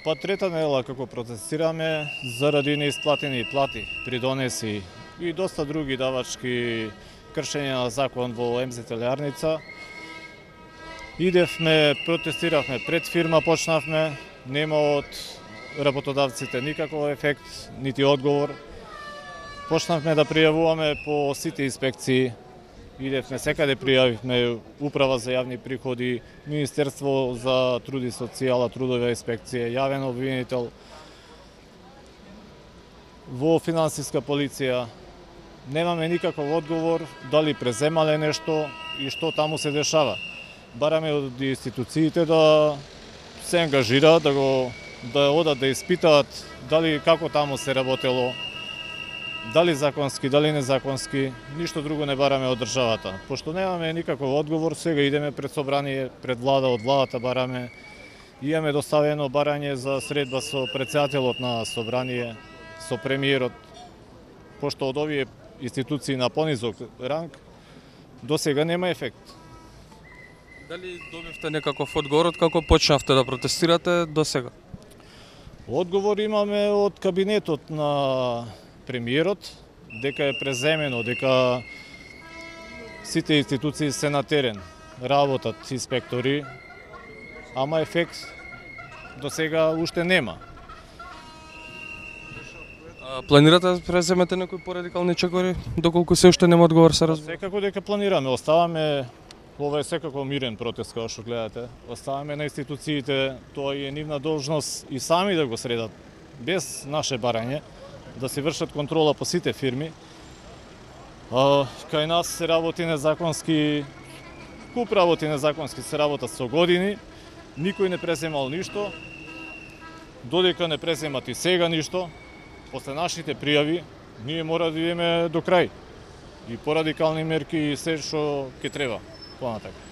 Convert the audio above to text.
Па трета недела како протестираме заради неисплатени плати, придонеси и доста други давачки кршења на закон во МЗ Телјарница. Идевме, протестиравме пред фирма, почнавме, нема од работодавците никаков ефект, нити одговор. Почнавме да пријавуваме по сите инспекции. Идевме секаде, пријавивме Управа за јавни приходи, Министерство за труд и социјала, трудова инспекција, јавен обвинител, во финансиска полиција. Немаме никаков одговор дали преземале нешто и што таму се дешава. Бараме од институциите да се ангажираат, да одат да испитаат дали како таму се работело, дали законски, дали незаконски, ништо друго не бараме од државата. Пошто немаме никаков одговор, сега идеме пред собрание, пред влада, од владата бараме. Имаме доставено барање за средба со претседателот на собрание, со премиерот, пошто од овие институции на понизок ранг до сега нема ефект. Дали добивте некаков одговор од како почнавте да протестирате до сега? Одговор имаме од кабинетот на премиерот, дека е преземено, дека сите институции се на терен, работат инспектори, ама ефект до сега уште нема. Планирате да преземете некои порадикални чекори, доколку се уште нема одговор, се разбира? Секако дека планираме, оставаме, ова е секако мирен протест, како што гледате, оставаме на институциите, тоа е нивна должност и сами да го средат, без наше барање, да се вршат контрола по сите фирми. Кај нас се работи незаконски, куп работи незаконски се работат со години, никој не преземал ништо, додека не преземат и сега ништо, после нашите пријави, ние мора да идеме до крај. И порадикални мерки и се што ќе треба понатака.